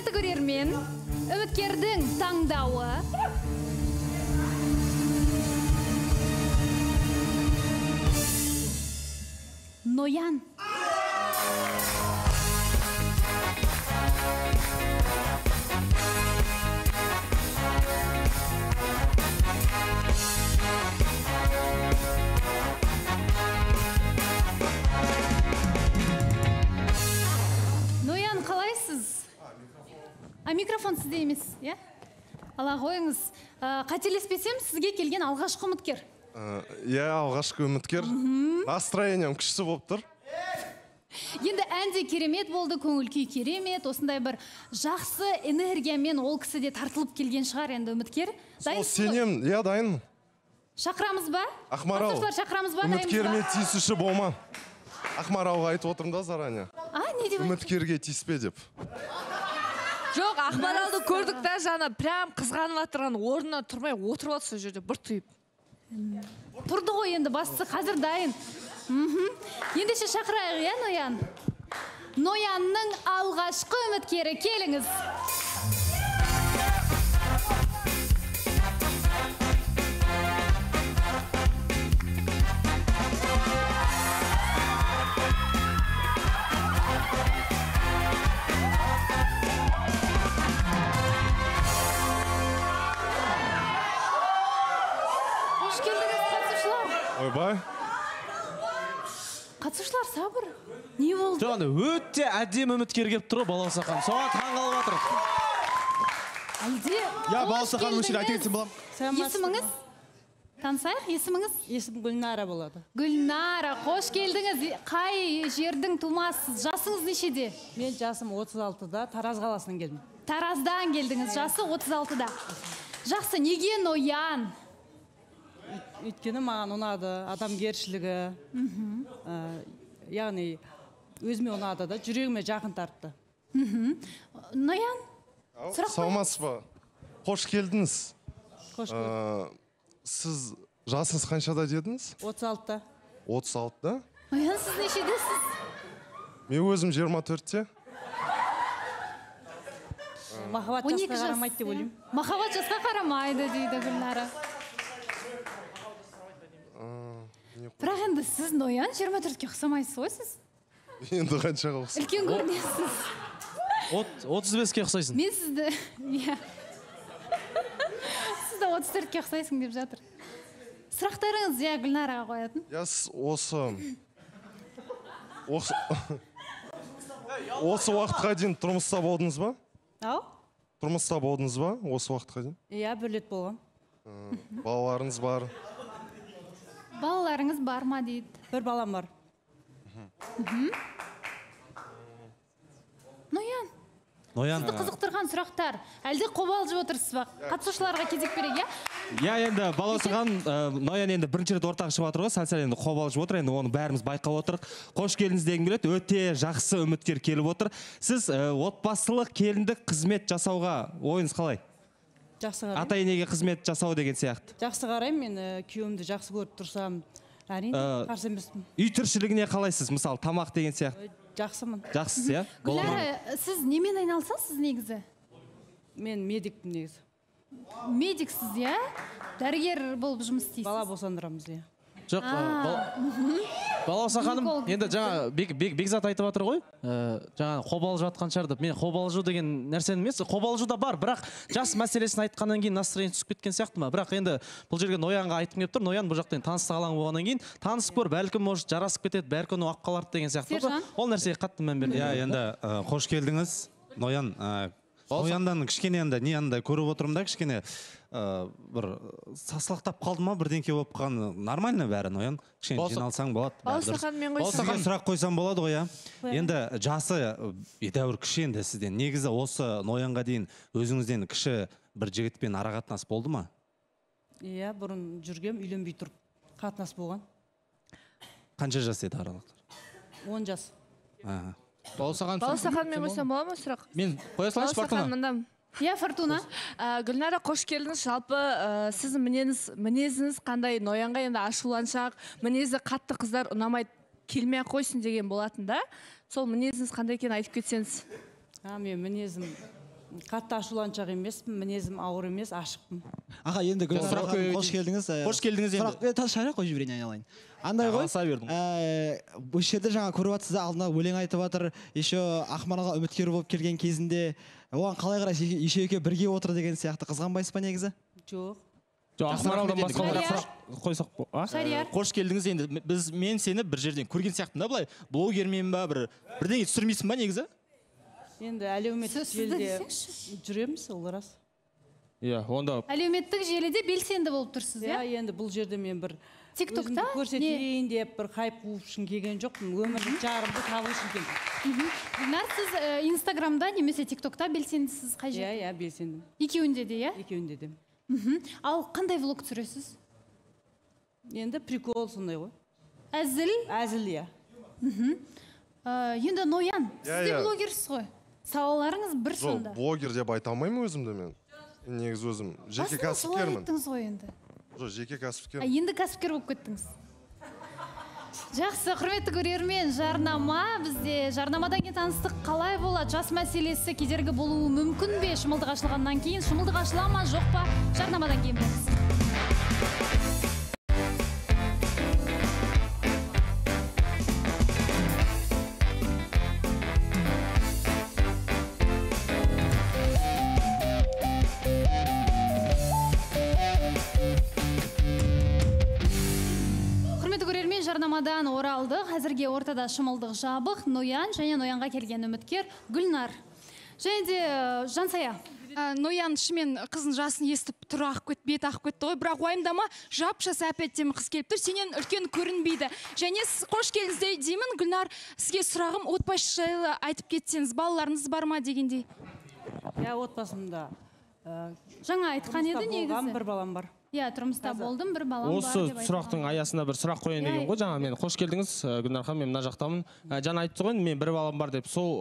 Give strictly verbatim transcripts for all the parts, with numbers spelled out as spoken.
Құрметті көрермен, үміткердің таңдауы Ноян. Ноян, қалайсыз? А микрофон сізде емес, е? Ала қойыңыз. Қателеспесем, сізге келген алғашқы үміткер. Иә, алғашқы үміткер. Настроением күшті болып тұр. Енді әнде керемет болды, көңіл күй керемет, осындай бір жақсы энергиямен ол кісі де тартылып келген шығар енді үміткер. Сол сенем, иә, дайынмын. Шақырамыз ба? Ақмарал, үміткерме тиісуші болма. Ақмаралға айтып отырмын да заранее. А, не деп? Үміткерге тиіспе деп. Жоқ, Ақмаралды көрдік та жаңа прям қызғанып отырған орнынан тұрмай отырып отыр сол жерде бір түйіп. Тұрды ғой енді бастысы қазір дайын. Ендеше шақырайық, иә, Ноян? Ноянның алғашқы үміткері, келіңіз. Қош келдіңіз, қатысушылар. Ойбай. Қатысушылар, сабыр. Не болды? Жоғында өтте әдем үміткер кеп тұр, Балаусақан. Соған таң қалып жатыр. Әлде? Я, Балаусақан мүшір айта кетсем болам. Есіміңіз? Танысайық, есіміңіз? Есім Гүлнара болады. Гүлнара, қош келдіңіз. Қай жердің тумасыз? Жасыңыз нешеде? Мен жасым отыз алтыда, Тараз қаласынан келдім. Тараздан келдіңіз, жасы отыз алтыда. Жақсы, неге Ноян? Өйткені маған ұнады, адамгершілігі, яғни өзіме ұнады да, жүрегіме жақын тартты. Ноян, сұрақ қой. Саламатсыз ба? Қош келдіңіз. Қош көрдік. Сіз жасыңыз қаншада дедіңіз? отыз алтыда. отыз алтыда? Ноян, сіз нешедесіз? Мен өзім жиырма төртте. Махаббат жасқа қарамайды деп ойлаймын. Махаббат жасқа қарамайды дейді Гүлнара. Бірақ енді сіз Ноян жиырма төртке ұқсамайсыз ғой сіз? Енді қаншаға ұқсайсыз? Үлкен көрінесіз. отыз беске ұқсайсың. Мен сізді, иә. Сізді отыз төртке ұқсайсың деп жатыр. Сұрақтарыңыз, иә, Гүлнараға қоятын. Я осы... Осы уақытқа дейін тұрмыста болдыңыз ба? Ау? Тұрмыста болдыңыз ба? Осы уақытқа дейін? Иә, бір рет болған. Балаларыңыз бар? Балаларыңыз бар ма дейді? Бір балам бар. Ноян, Ноян. сізді қызықтырған сұрақтар. Әлде қобалжып отырсыз ба? Қатысушыларға кезек берейік, иә? Я, енді Балаусақан, Ноян енді бірінші рет ортақ шығып жатыр ғой, сәл-сәл енді қобалжып отыр, енді оны бәріміз байқап отырық. Қош келдіңіз дегім келеді, өте жақсы үміткер келіп отыр. Сіз отбасылық келіндік қызмет жасауға ойыңыз қалай? Жақсы қараймын. Ата-енеге қызмет жасау деген сияқты. Жақсы қараймын, мен күйеуімді жақсы көріп тұрсам, әрине, қарсы емеспін. Үй тіршілігіне қалайсыз? Мысалы, тамақ деген сияқты. Жақсымын. Жақсыз, иә? Гүлнара, сіз немен айналысасыз негізі? Мен медикпін негізі. Медиксіз, иә? Дәрігер болып жұмыс істейсіз? Бала босандырамыз, иә. Жоқ, Балаусақаным, енді жаңа Бекзат айтып жатыр ғой, жаңа қобалжып жатқан шығар деп. Мен қобалжу деген нәрсені емес, қобалжу да бар, бірақ жас мәселесін айтқаннан кейін настроение түсіп кеткен сияқты ма? Бірақ енді бұл жерге Ноянға айтып келіп тұр, Ноян бұл жақтан таныстық алаң болғаннан кейін танысып көр, бәлкім может жарасып кетеді, бәлкім оқып қаларды деген сияқты. Ол нәрсеге қатты мән бермейді. Иә, енді қош келдіңіз, Ноян. Нояндан кішкене енді не андай көріп отырмын да, кішкене бір сасылақтап қалды ма, бірдеңке болып қалған. Нормально бәрі, Ноян. Кішкене жиналсаң болады. Балаусақан мен қойсын. Сізге сұрақ қойсам болады ғой, иә. Енді жасы едәуір кіші енді сізден. Негізі осы Ноянға дейін өзіңізден кіші бір жігітпен ара қатынас болды ма? Иә, бұрын жүргем, үйленбей тұрып қатынас болған. Қанша жас еді аралықтар? он жас. Балаусақан мен қойсам бола ма сұрақ? Мен қоя салайыншы, Фортуна. Балаусақан Иә, Фортуна. Гүлнара, қош келдіңіз. Жалпы сіздің мінезіңіз қандай? Ноянға енді ашуланшақ, мінезі қатты қыздар ұнамайды, келмей қойсын деген болатын да. Сол мінезіңіз қандай екенін айтып кетсеңіз. Мен мінезім қатты ашуланшақ емеспін, мінезім ауыр емес, ашықпын. Аға, енді Гүлнар ханым, қош келдіңіз. Қош келдіңіз енді. Сұрақ, тас шайрақ қой жіберейін айналайын. Андай ғой. Аса бердім. Бұл жерде жаңа көріп жатсыз, алдына өлең айтып жатыр. Еще Ақмаралға үміткер болып келген кезінде, оған қалай қарайсыз, еще екеуі бірге отыр деген сияқты қызғанбайсыз ба негізі? Жоқ. Жоқ, Ақмаралдан басқа сұрақ қойсақ па? Шарияр. Қош келдіңіз енді. Біз мен сені бір жерден көрген сияқтымын да былай. Блогермен ба бір бірдеңе түсірмейсің ба негізі? Енді әлеуметтік желіде жүреміз, ол рас. Иә, онда Әлеуметтік желіде белсенді болып тұрсыз, иә? иә? Енді бұл жерде мен бір TikTokта өзімді көрсетейін деп бір хайп қуып үшін келген жоқпын. Өмірлік жарымды табу үшін келдім. Гүлнар, сіз Инстаграмда немесе TikTokта белсендісіз қай Иә, жерде? иә, белсендім. Екеуінде де, иә? Екеуінде де. Ал қандай влог түсіресіз? Енді прикол сондай ғой. Әзіл? Әзіл, иә. Енді Ноян, сіз де иә. блогерсіз ғой. Салаларыңыз бір Жоқ, сонда. блогер деп айта алмаймын өзімді мен. Негізі өзім жеке Басында солай кәсіпкермін. айттыңыз ғой енді. Жоқ, жеке А кәсіпкер. енді кәсіпкер болып кеттіңіз. Жақсы, құрметті көрермен, жарнама. Бізде жарнамадан кейін таныстық қалай болады? Жас мәселесі кедергі болуы мүмкін бе? Шымылдық ашылғаннан кейін, шымылдық ашыла ма, жоқ па? Жарнамадан кейін болсын. Жарнамадан оралдық. Әзірге ортада шымылдық жабық, Ноян және Ноянға келген үміткер Гүлнар. Және де Жансая. Ноян шымен қызын жасын естіп тұр ақ көт, бет ақ көтті ғой. Бірақ уайымдама, жап-жас әпеттемі қыз келіп тұр. Сенен үлкен көрінбейді. Және сіз қош келдіңіз деймін, Гүлнар, сізге сұрағым отбасы жайлы айтып кетсеңіз, балаларыңыз бар ма дегендей. Иә, отбасымда. Жаңа айтқан еді негізі. Бір балам бар. Иә, тұрмыста болдым, бір балам бар Осы деп сұрақтың аясында бір сұрақ қояйын деген ғой. Жаңа мен қош келдіңіз, Гүлнар ханым, мен мына жақтамын. Жаңа айтты ғой, мен бір балам бар деп. Сол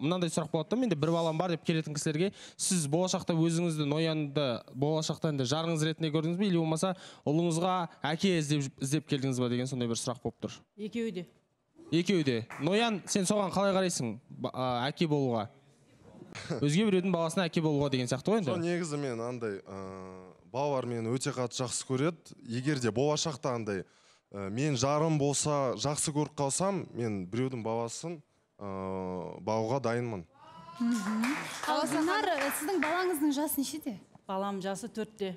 мынандай сұрақ болады да, менде бір балам бар деп келетін кісілерге, сіз болашақта өзіңізді, Ноянды болашақта енді жарыңыз ретінде көрдіңіз бе, или болмаса ұлыңызға әке іздеп келдіңіз ба деген сондай бір сұрақ болып тұр. Екеуі де. Екеуі де. Ноян, сен соған қалай қарайсың, әке болуға? Өзге біреудің баласына әке болуға деген сияқты ғой енді. Сол негізі мен андай балалар мені өте қатты жақсы көреді. Егер де болашақта андай мен жарым болса, жақсы көріп қалсам, мен біреудің баласын бағуға дайынмын. Ал Гүлнар, сіздің балаңыздың жасы нешеде? Балам жасы төртте.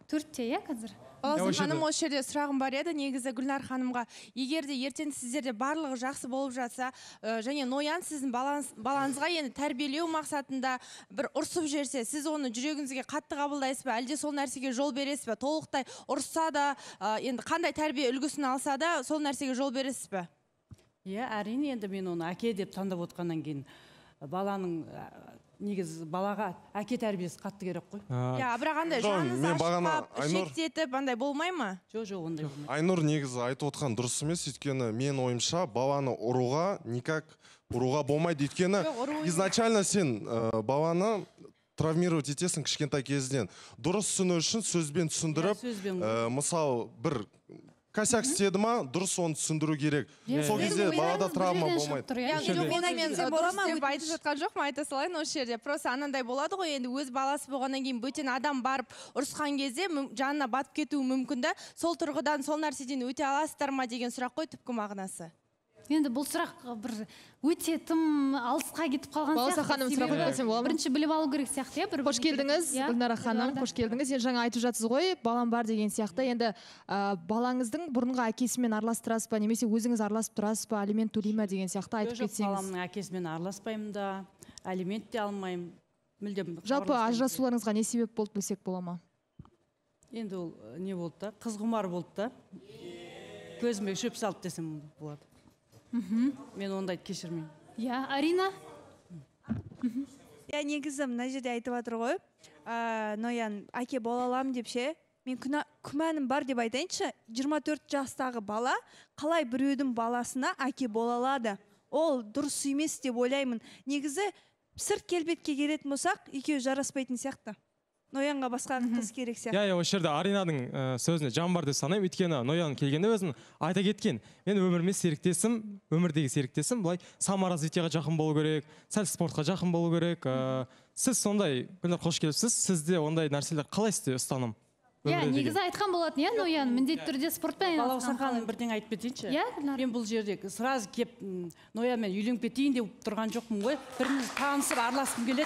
Төртте, иә, қазір? Баласым ханым, осы жерде сұрағым бар еді, негізі Гүлнар ханымға. Егер де ертең сіздерде барлығы жақсы болып жатса, және Ноян сіздің балаңызға енді тәрбиелеу мақсатында бір ұрсып жерсе, сіз оны жүрегіңізге қатты қабылдайсыз ба, әлде сол нәрсеге жол бересіз ба? Толықтай ұрса да, енді қандай тәрбие үлгісін алса да, сол нәрсеге жол бересіз ба? Иә, әрине, енді мен оны әке деп таңдап отқаннан кейін баланың негіз балаға әке тәрбиесі қатты керек қой. Иә, бірақ андай жаныңыз ашықтап, шектетіп, андай болмай ма? Жоқ, жоқ, ондай болмайды. Айнұр негізі айтып отқан дұрыс емес, өйткені мен ойымша баланы ұруға никак ұруға болмайды, өйткені изначально сен баланы травмировать етесің кішкентай кезден. Дұрыс түсіну үшін сөзбен түсіндіріп, мысалы бір косяк істеді ма, дұрыс оны түсіндіру керек. Сол кезде балада травма болмайды. Мен дұрыс деп айтып жатқан жоқ ма, айта салайын осы жерде. Просто анандай болады ғой, енді өз баласы болғаннан кейін бөтен адам барып ұрысқан кезде жанына батып кетуі мүмкін да, сол тұрғыдан сол нәрседен өте аласыздар ма деген сұрақ қой түпкі мағынасы. Енді бұл сұрақ бір өте тым алысқа кетіп қалған сияқты. Баласа ханым сұрақ қойсам болады ма? Бірінші біліп алу керек сияқты, иә? Қош келдіңіз, Гүлнара ханым, қош келдіңіз. Енді жаңа айтып жатсыз ғой, балам бар деген сияқты. Енді балаңыздың бұрынғы әкесімен араластырасыз ба, немесе өзіңіз араласып тұрасыз ба, алимент төлей ме деген сияқты айтып кетсеңіз. Жоқ, баламның әкесімен араласпаймын да, алимент те алмаймын. Мүлдем. Жалпы ажырасуларыңызға не себеп болды білсек бола ма? Енді ол не болды да, қыз құмар болды да. Көзіме шөп салды десем болады. Мен ондайды кешірмеймін. Иә, Арина? Иә, негізі мына жерде айтып жатыр ғой, Ноян әке бола аламын деп ше, мен күмәнім бар деп айтайыншы, жиырма төрт жастағы бала қалай біреудің баласына әке бола алады? Ол дұрыс емес деп ойлаймын. Негізі сырт келбетке келетін болсақ, екеуі жараспайтын сияқты. ноянға басқа қыз керек сияқты. Иә, иә, осы жерде Аринаның сөзіне жан бар деп санаймын. Өйткені Ноян келгенде өзін айта кеткен. Мен өміріме серіктесім, өмірдегі серіктесім былай саморазвитияға жақын болу керек, сәл спортқа жақын болу керек. Сіз сондай, Гүлнар, қош келіпсіз. Сізде ондай нәрселер қалай сізде ұстаным? Иә, негізі айтқан болатын, иә, Ноян, міндетті түрде спортпен айналысқан. Балауса бірден айтып кетейінші. Иә, Гүлнар. Мен бұл жерде сразу кеп Ноянмен үйленіп кетейін деп тұрған жоқпын ғой. Біріміз танысып араласқым келеді.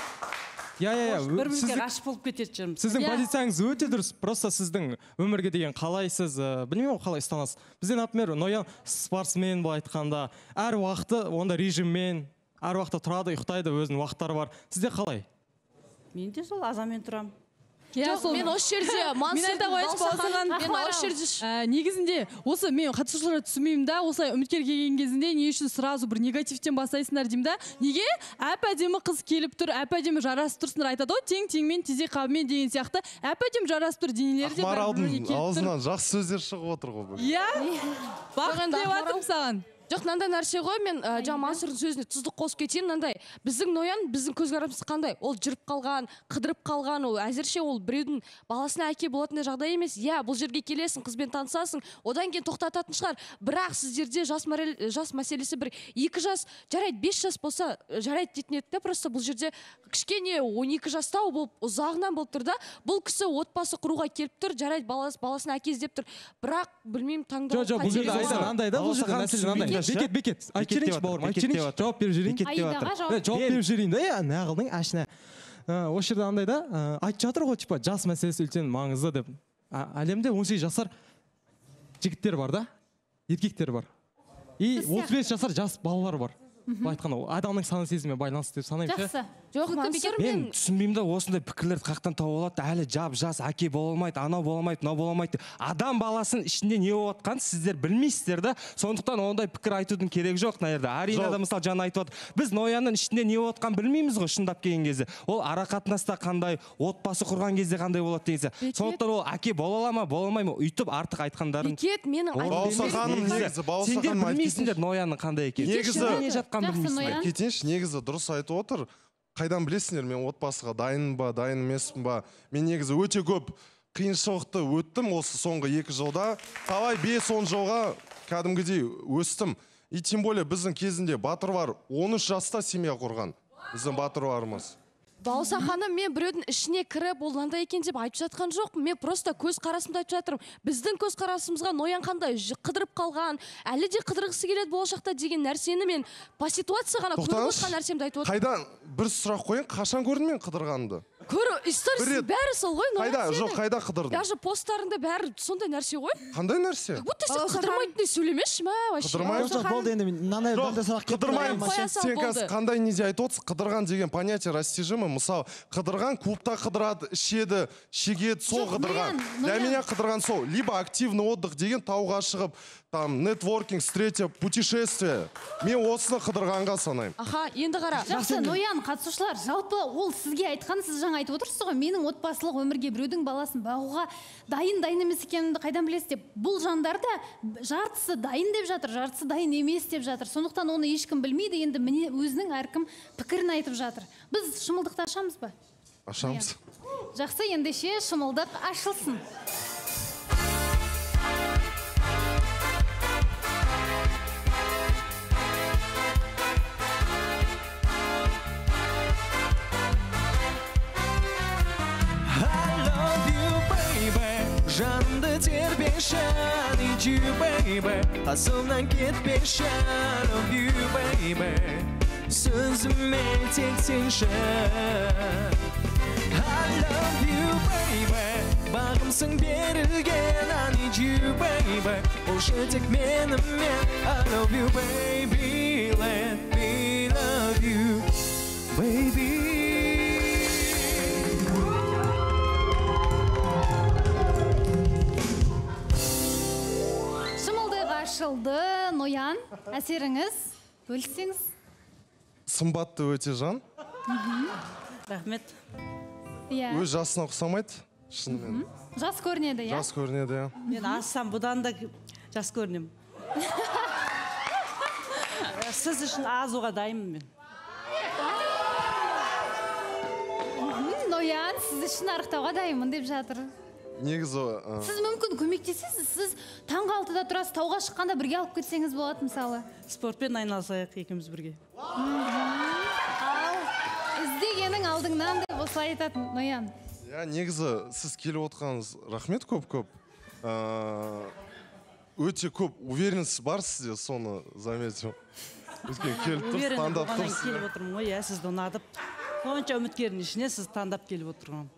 Иә, иә, иә. Бірімізге ғашық болып кетеді жүрміз. Сіздің позицияңыз өте дұрыс. Просто сіздің өмірге деген қалай сіз, білмеймін қалай ұстанасыз. Бізде, например, Ноян спортсмен бұл айтқанда, әр уақыты онда режиммен, әр уақытта тұрады, ұйықтайды, өзінің уақыттары бар. Сізде қалай? Мен де сол азамен тұрам. Жоқ, мен осы жерде Мансұрдың Балсахан, мен осы жерде негізінде осы мен қатысушыларға түсінбеймін да, осылай үміткер келген кезінде не үшін сразу бір негативтен бастайсыңдар деймін да. Неге? Әп-әдемі қыз келіп тұр, әп-әдемі жарасып тұрсыңдар, айтады ғой, тең-теңмен, тезек қабымен деген сияқты. Әп-әдемі жарасып тұр, денелері де Ақмаралдың аузынан жақсы сөздер шығып отыр ғой. Иә, бақыт деп атырмын саған. Жоқ, мынандай нәрсе ғой, мен жаңа Мансұрдың сөзіне тұздық қосып кетейін. Мынандай біздің Ноян, біздің көзқарасымыз қандай? Ол жүріп қалған, қыдырып қалған, ол әзірше ол біреудің баласына әке болатындай жағдай емес. Иә, бұл жерге келесің, қызбен танысасың, одан кейін тоқтататын шығар. Бірақ сіздерде жас жас мәселесі бір екі жас, жарайды, бес жас болса, жарайды дейтін еді. Просто бұл жерде кішкене он екі жастау болып, ұзағынан болып тұр да. Бұл кісі отбасы құруға келіп тұр, жарайды, баласына әке іздеп тұр. Бірақ білмеймін, таңдау. Жоқ, бұл жерде андай да, бұл жерде мәселе мынандай. Бекет, бекет. Айтып жіберейінші бауырым, айтып жіберейінші. Жауап беріп жіберейін. Жауап беріп жіберейін да, иә, нағылдың әшіне. Осы жерде андай да, айтып жатыр ғой, типа, жас мәселесі үлкен маңызды деп. Әлемде он сегіз жасар жігіттер бар да, еркектер бар. И отыз бес жасар жас балалар бар. Айтқанда, адамның саны сезіммен байланысты деп санаймын. Жақсы. Жоқ, мен түсінбеймін да, осындай пікірлерді қақтан тауып алады, әлі жап жас әке бола алмайды, анау бола алмайды, мынау бола алмайды. Адам баласын ішінде не болып жатқанын сіздер білмейсіздер да. Сондықтан ондай пікір айтудың керегі жоқ, наверде. Арина да мысалы жаңа айтып отыр. Біз Ноянның ішінде не болып жатқанын білмейміз ғой, шындап келген кезде. Ол ара қатынаста қандай, отбасы құрған кезде қандай болады деген сияқты. Сондықтан ол әке бола ала ма, бола алмай ма, өйтіп артық айтқандарын. Бекет, менің сендер білмейсіңдер Ноянның қандай екенін. Кетейінші, негізі дұрыс айтып отыр. Қайдан білесіңдер, мен отбасыға дайын ба, дайын емеспін ба? Мен негізі өте көп қиыншылықты өттім осы соңғы екі жылда. Талай бес он жылға кәдімгідей өстім. И тем более біздің кезінде батыр бар он үш жаста семья құрған. Біздің батыр барымыз. Балауса ханым, мен біреудің ішіне кіріп, ол мынандай екен деп айтып жатқан жоқпын. Мен просто көз қарасымды айтып жатырмын. Біздің көз қарасымызға Ноян қандай қыдырып қалған, әлі де қыдырғысы келеді болашақта деген нәрсені мен по ситуация ғана көріп отқан нәрсемді айтып отырмын. Қайдан бір сұрақ қойын, қашан көрдің мен қыдырғанымды? Көрі, историясы бәрі сол ғой, Ноян. Қайда, жоқ, қайда қыдырдың? Даже посттарында бәрі сондай нәрсе ғой. Қандай нәрсе? Будто сен қыдырмайтындай сөйлемеші ма? Жоқ, болды енді мынандай сұрақ қыдырмаймын. Сен қазір қандай неде айтып отырсың? Қыдырған деген понятие растяжимый. Мысалы, қыдырған клубта қыдырады, ішеді, шегеді, сол қыдырған. Для меня қыдырған сол. Либо активный отдых деген тауға шығып, там, нетворкинг, встреча, путешествие. Мен осыны қыдырғанға санаймын. Аха, енді қара. Жақсы, Ноян, қатысушылар, жалпы ол сізге айтқан, сіз жаңа айтып отырсыз ғой, менің отбасылық өмірге біреудің баласын бағуға дайын дайын емес екенімді қайдан білесіз деп. Бұл жандар да жартысы дайын деп жатыр, жартысы дайын емес деп жатыр. Сондықтан оны ешкім білмейді, енді міне өзінің әркім пікірін айтып жатыр. Біз шымылдықты ашамыз ба? Ашамыз. Жақсы, ендеше шымылдық ашылсын. Жанымды тербеші, I need you, baby. Қасымнан кетпеші, I love you, baby. Сөзіме тек сенші, I love you, baby. Бағымсың берілген, I need you, baby. Болшы тек менімен, I love you, baby. Let me love you, baby. Ашылды, Ноян, әсеріңіз, бөліссеңіз? Сымбатты өте жан. Рахмет. Өз жасына ұқсамайды, шынымен. Жас көрінеді, иә? Жас көрінеді, иә. Мен ассам, бұдан да жас көрінем. Сіз үшін азуға дайынмын мен. Ноян, сізді шын арықтауға дайынмын деп жатыр. Негізі Сіз мүмкін көмектесесіз, сіз таңғы алтыда тұрасыз, тауға шыққанда бірге алып кетсеңіз болады мысалы. Спортпен айналысайық екеуміз бірге. Ал іздегенің алдыңнан деп осылай айтатын Ноян. Я негізі сіз келіп отырғаныңыз рахмет көп-көп. Өте көп уверенность бар сізде, соны заметил. Өткен келіп тұрсыз, таңдап тұрсыз. Келіп отырмын ғой, иә, сізді ұнадып. Сонша үміткердің ішіне сіз таңдап келіп отырған.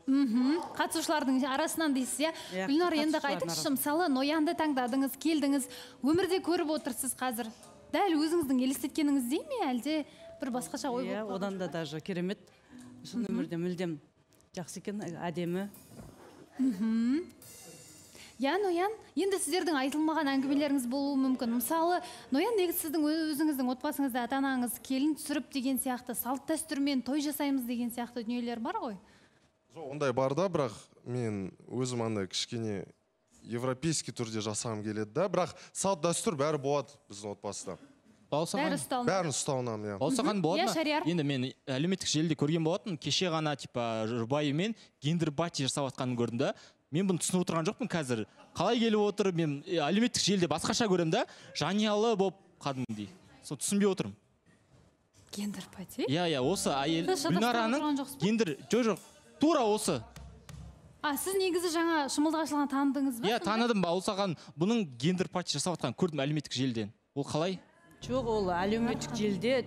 Қатысушылардың арасынан дейсіз, иә? Гүлнар, енді айтыңызшы, мысалы, Ноянды таңдадыңыз, келдіңіз, өмірде көріп отырсыз қазір. Дәл өзіңіздің елестеткеніңіздей ме, әлде бір басқаша ой болып? Иә, одан да даже керемет. Шын өмірде мүлдем жақсы екен, әдемі. Я, Ноян, енді сіздердің айтылмаған әңгімелеріңіз болуы мүмкін. Мысалы, Ноян, негізі сіздің өзіңіздің отбасыңызда ата-анаңыз келін түсіріп деген сияқты, салт дәстүрмен той жасаймыз деген сияқты дүниелер бар ғой? Жоқ, ондай бар да, бірақ мен өзім андай кішкене европейский түрде жасағым келеді да, бірақ салт дәстүр бәрі болады біздің отбасыда. Бәрін ұстауынан, иә. Бауырсақан болады ма? Енді мен әлеуметтік желіде көрген болатын, кеше ғана типа жұбайымен гендер-пати жасап жатқанын көрдім да. Мен бұны түсініп отырған жоқпын қазір. Қалай келіп отыр, мен әлеуметтік желіде басқаша көрем да, жаниялы болып қадымдей. Сол түсінбей отырмын. Гендер-пати? Иә, иә, осы әйел Гүлнараның гендер, жоқ, жоқ, тура осы. А, сіз негізі жаңа шымылдық ашылған таныдыңыз ба? Иә, таныдым, Бауырсақан бұның гендер-пати жасап жатқанын көрдім әлеуметтік желіден. Ол қалай? Жоқ, ол әлеуметтік желіде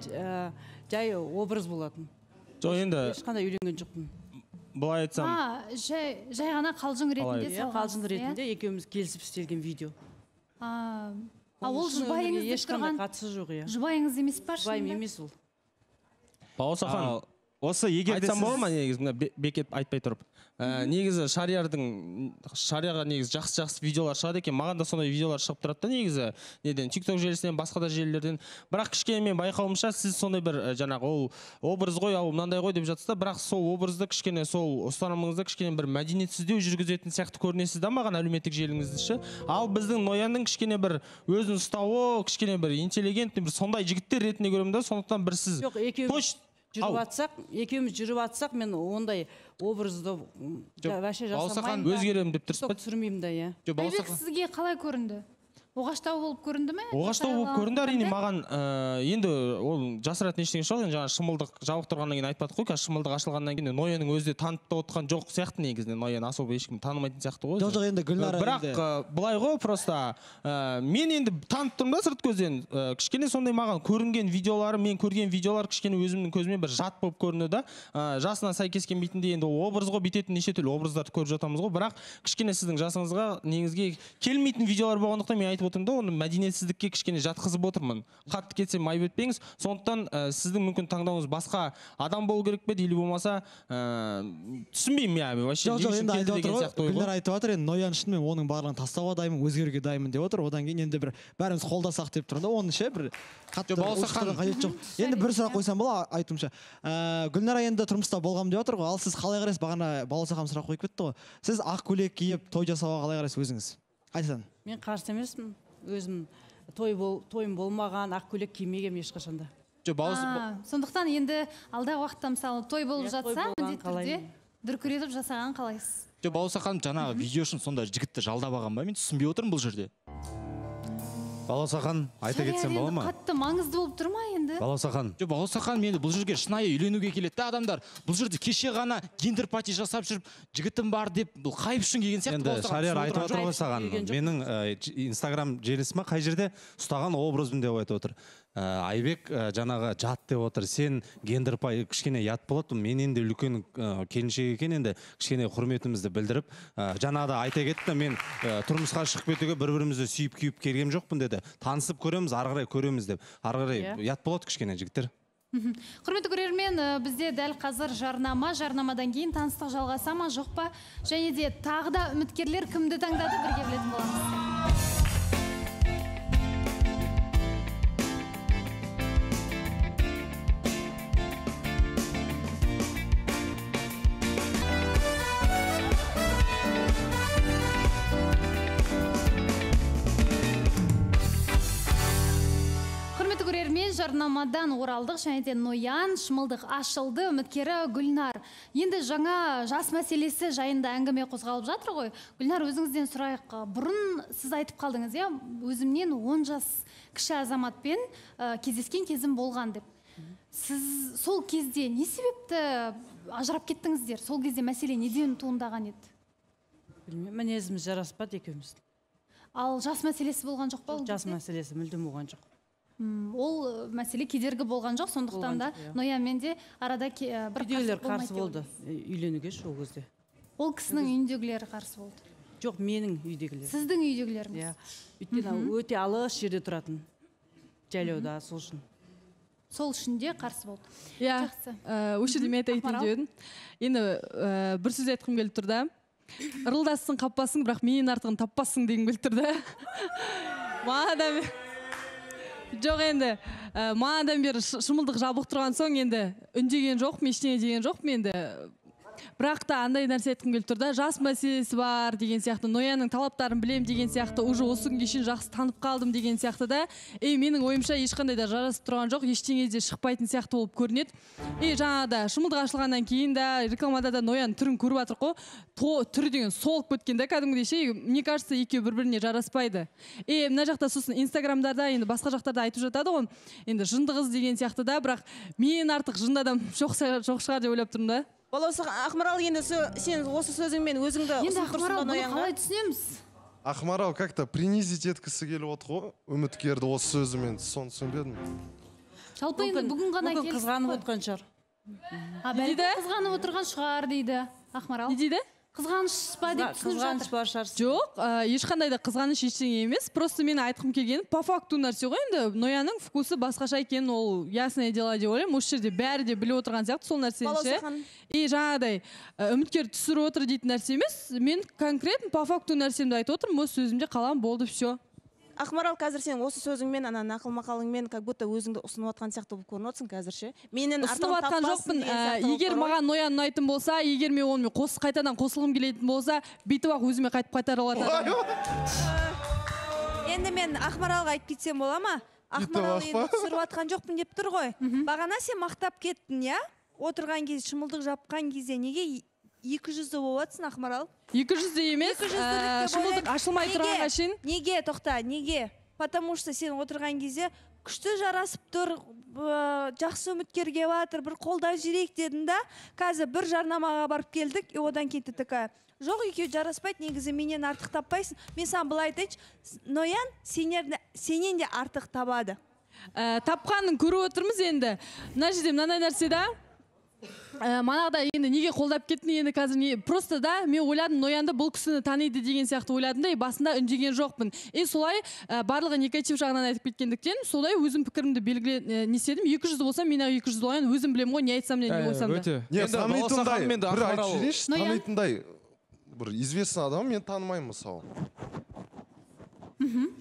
жай образ болатын. Жоқ, енді ешқандай үйленген жоқпын. Былай айтсам. Жай ғана қалжың ретінде салғансыз. Қалжың ретінде екеуміз келісіп істелген видео. А, ол жұбайыңыз деп тұрған. Ешқандай қатысы жоқ, иә. Жұбайыңыз емес па? Жұбайым емес ол. Бауырсақан, осы егер айтсам бола ма негізі, бекет айтпай тұрып. Негізі шариярдың, шарияға негізі жақсы-жақсы видеолар шығады екен. Маған да сондай видеолар шығып тұрады да негізі. Неден, тикток желісінен, басқа да желілерден. Бірақ кішкене мен байқауымша, сіз сондай бір жаңағы ол образ ғой, ал мынандай ғой деп жатсыз да, бірақ сол образды кішкене, сол ұстанымыңызды кішкене бір мәдениетсіздеу жүргізетін сияқты көрінесіз да маған әлеуметтік желіңіздіші. Ал біздің Ноянның кішкене бір өзін ұстауы, кішкене бір интеллигентный, бір сондай жігіттер ретінде көремін да, сондықтан бір сіз жүріп атсақ, екеуміз жүріп атсақ, мен ондай образды вәше жасамайын да. Өзгерем деп тұрсыз ба? Түсірмеймін да, иә. Айбек сізге қалай көрінді? Оғаштау болып көрінді ме? Оғаштау болып көрінді, әрине маған енді ол жасыратын ештеңе жоқ. Жаңа шымылдық жабық тұрғаннан кейін айтпадық қой, қазір шымылдық ашылғаннан кейін Ноянның өзі де танып та отқан жоқ сияқты негізінен. Ноян особо ешкім танымайтын сияқты ғой. Жоқ, жоқ, енді Гүлнара. Бірақ былай ғой, просто мен енді танып тұрмын да сырт көзден. Кішкене сондай маған көрінген видеолары, мен көрген видеолар кішкене өзімнің көзіме бір жат болып көрінді да. Жасына сәйкес келмейтіндей енді ол образ ғой, бүйтетін неше түрлі образдарды көріп жатамыз ғой. Бірақ кішкене сіздің жасыңызға негізге келмейтін видеолар болғандықтан мен айтып отырмын да, оны мәдениетсіздікке кішкене жатқызып отырмын. Қатты кетсем айып етпеңіз. Сондықтан сіздің мүмкін таңдауыңыз басқа адам болу керек пе, или болмаса түсінбеймін я. Жоқ, жоқ, енді айтып отыр ғой. Гүлнар айтып отыр, енді Ноян үшін мен оның барлығын тастауға дайынмын, өзгеруге дайынмын деп отыр. Одан кейін енді бір бәріміз қолдасақ деп тұрмын да, оны ше бір қатты қажет жоқ. Енді бір сұрақ қойсам бола, айтуымша. Гүлнара енді тұрмыста болғам деп отыр ғой. Ал сіз қалай қарайсыз? Бағана Бауырсақан сұрақ қойып кетті ғой. Сіз ақ көйлек киіп той жасауға қалай қарайсыз өзіңіз? Айтсаң. Мен қарсы емеспін. Өзім тойым болмаған, ақ көйлек кимегем ешқашанда. Сондықтан енді алдағы уақытта мысалы той болып жатса, міндетті түрде дүркіретіп жасаған қалайсыз? Бауырсақан жаңағы видео үшін сонда жігітті жалдап алған ба? Мен түсінбей отырмын бұл жерде. Бауырсақан, айта кетсем бола ма? Қатты маңызды болып тұр ма енді? Бауырсақан. Жоқ, Бауырсақан мені бұл жерге шынайы үйленуге келеді да адамдар. Бұл жерде кеше ғана гендер-пати жасап жүріп, жігітім бар деп, бұл хайп үшін келген сияқты. Енді Шарияр айтып отыр ғой саған. Менің Инстаграм желісі ма қай жерде ұстаған образым деп айтып отыр. Айбек жаңағы жат деп отыр. Сен гендер-пай кішкене ят болады. Мен енді үлкен келіншек екен, енді кішкене құрметімізді білдіріп, жаңағыда айта кетті, мен тұрмысқа шығып кетуге бір-бірімізді сүйіп күйіп келгем жоқпын деді. Танысып көреміз, ары қарай көреміз деп. Ары қарай ят болады кішкене жігіттер. Құрметті көрермен, бізде дәл қазір жарнама, жарнамадан кейін таныстық жалғаса ма, жоқ па? Және де тағы да үміткерлер кімді таңдады, бірге білетін боламыз. Жарнамадан оралдық, және де Ноян шымылдық ашылды, үміткері Гүлнар. Енді жаңа жас мәселесі жайында әңгіме қозғалып жатыр ғой. Гүлнар, өзіңізден сұрайық. Бұрын сіз айтып қалдыңыз, иә, өзімнен он жас кіші азаматпен кездескен кезім болған деп. Сіз сол кезде не себепті ажырап кеттіңіздер? Сол кезде мәселе неден туындаған еді? Білмеймін, мінезіміз жараспады екеуміз. Ал жас мәселесі болған жоқ па? Жас мәселесі мүлдем болған жоқ. Ол мәселе кедергі болған жоқ, сондықтан да Ноянмен де арада бір үйдегілер қарсы болды үйленуге ол кезде. Ол кісінің үйіндегілері қарсы болды? Жоқ, менің үйдегілер. Сіздің үйдегілеріңіз? Өйткені өте алыс жерде тұратын, жайлауда, сол үшін. Сол үшін де қарсы болды. Иә, осы жерде мен айтайын дедім. Енді бір сөз айтқым келіп тұр да. Ырылдассың, қаппасың, бірақ менен артығын таппассың деген келіп тұр да. Маған жоқ енді, мағанадан бері шымылдық жабық тұрған соң енді үндеген жоқ, ештеңе деген жоқ менде. Бірақ та андай нәрсе айтқым келіп тұр да, жас мәселесі бар деген сияқты, Ноянның талаптарын білем деген сияқты, уже осы күнге шейін жақсы танып қалдым деген сияқты да, ей, менің ойымша ешқандай да жарасып тұрған жоқ, ештеңе де шықпайтын сияқты болып көрінеді. Ей, жаңада шымылдық ашылғаннан кейін да, рекламада да Ноян түрін көріп жатыр ғой, түрі деген солып кеткен да, кәдімгідей ше, мне кажется, екеуі бір-біріне жараспайды. Ей, мына жақта сосын инстаграмдарда, енді басқа жақтарда айтып жатады ғой, енді жынды қыз деген сияқты да, бірақ мен артық жынды адам жоқ шығар деп ойлап тұрмын да. Ол осы Ақмарал, енді сен осы сөзіңмен өзіңді ұсынып тұрсың ба Ноянға? Қалай түсінеміз? Ақмарал как-то принизить еткісі келіп отыр ғой, үміткерді осы сөзімен, соны түсінбедім. Жалпы енді бүгін ғана келіп қызғанып отқан шығар. Қызғанып отырған шығар дейді Ақмарал. Не дейді? Қызғаныш па деп түсініп жатыр. Қызғаныш бар шығар. Жоқ, ешқандай да қызғаныш ештеңе емес. Просто мен айтқым келгені по факту нәрсе ғой енді. Ноянның вкусы басқаша екенін ол ясное дело деп ойлаймын. Осы жерде бәрі де біліп отырған сияқты сол нәрсені ше. И жаңағыдай үміткер түсіріп отыр дейтін нәрсе емес. Мен конкретно по факту нәрсемді айтып отырмын. Өз сөзімде қалам болды все. Ақмарал, қазір сен осы сөзіңмен, ана нақыл мақалыңмен как будто өзіңді ұсынып отқан сияқты болып көрініп отырсың қазір ше. Менен ұсынып отқан жоқпын. Егер маған Ноян ұнайтын болса, егер мен онымен қос қайтадан қосылғым келетін болса, бүйтіп ақ өзіме қайтып қайтара алатын. Енді мен Ақмаралға айтып кетсем бола ма? Ақмарал енді түсіріп отқан жоқпын деп тұр ғой. Бағана сен мақтап кеттің, иә? Отырған кезде, шымылдық жапқан кезде неге екі жүзді болып жатсың, Ақмарал? екі жүзді емес, шымылдық ашылмай тұрғанға шейін. Неге, тоқта, неге? Потому что сен отырған кезде күшті жарасып тұр, жақсы үміткерге батыр, бір қолдап жүрейік дедің да, қазір бір жарнамаға барып келдік, одан кейін такая, жоқ, екеуі жараспайды, негізі менен артық таппайсың. Мен саған былай айтайыншы, Ноян сенен де артық табады. Тапқанын көріп отырмыз енді. Мына жерде мынандай нәрсе да. Манағда енді неге қолдап кеттің енді қазір не просто да мен ойладым Ноянды бұл кісіні таниды деген сияқты ойладым да, басында үндеген жоқпын. И солай барлығы негатив жағынан айтып кеткендіктен солай өзім пікірімді белгіле не істедім. екі жүз болса мен екі жүз Ноян өзім білем ғой, не айтсам не болсам да. Не, танитындай, бір айтып жіберейінші, танитындай бір известный адам мен танымаймын мысалы.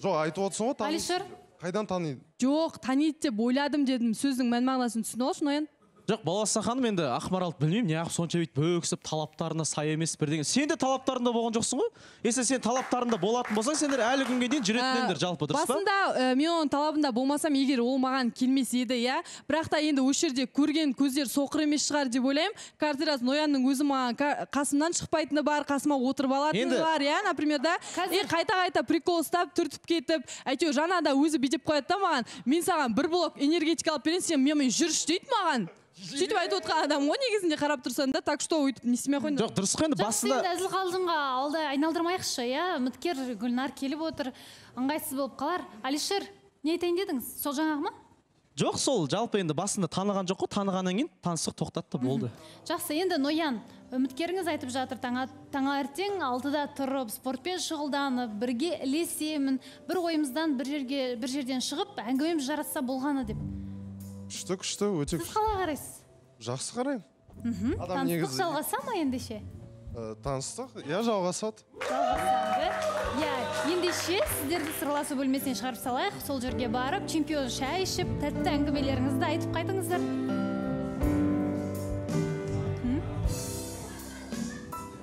Жоқ, айтып отырсың ғой, Алишер? Қайдан таниды? Жоқ, таниды деп ойладым дедім, сөздің мән мағынасын түсіне алшы Ноян. Жоқ, Баласа ханым, енді Ақмарал білмеймін, неғып сонша бейт бөксіп талаптарына сай емес бірдеңе. Сен де талаптарында болған жоқсың ғой? Если сен талаптарында болатын болсаң, сендер әлі күнге дейін жүретіндер жалпы, дұрыс па? Басында мен оның талабында болмасам, егер ол маған келмес еді, иә. Бірақ та енді осы жерде көрген көздер соқыр емес шығар деп ойлаймын. Каждый раз Ноянның өзі маған қасымнан шықпайтыны бар, қасыма отырып алатыны бар, иә, например, да. И қайта-қайта прикол ұстап, түртіп кетіп, әйтеуір жаңада өзі бүйтіп қояды да маған. Мен саған бір блок энергетика алып берейін, сен менімен жүріш дейді маған. Сөйтіп айтып отқан адам ғой негізінде қарап тұрсаң да, так что өйтіп не істемей қойыңдар. Жоқ, дұрыс қой енді басында. Жақсы, әзіл қалжыңға алдай айналдырмайықшы, иә. Үміткер Гүлнар келіп отыр, ыңғайсыз болып қалар. Алишер, не айтайын дедіңіз? Сол жаңағы ма? Жоқ, сол жалпы енді басында таныған жоқ қой, танығаннан кейін танысық тоқтатты болды. Жақсы, енді Ноян, үміткеріңіз айтып жатыр, таңертең алтыда тұрып, спортпен шұғылданып, бірге ілесемін, бір ойымыздан бір жерге бір жерден шығып, әңгімеміз жарасса болғаны деп. Күшті, күшті, өте күшті. Сіз қалай қарайсыз? Жақсы қараймын. Таныстық жалғаса ма ендеше? Таныстық, иә, жалғасады. Жалғасады. Иә, ендеше сіздерді сырласу бөлмесіне шығарып салайық, сол жерге барып, чемпион шай ішіп, тәтті әңгімелеріңізді айтып қайтыңыздар.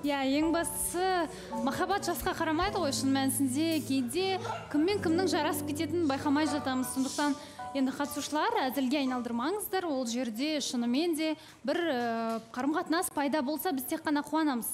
Иә, ең бастысы, махаббат жасқа қарамайды ғой, шын мәнісінде кейде кіммен кімнің жарасып кететінін байқамай жатамыз. Сондықтан Енді қатысушылар әзілге айналдырмаңыздар, ол жерде шынымен де бір қарым-қатынас пайда болса біз тек қана қуанамыз.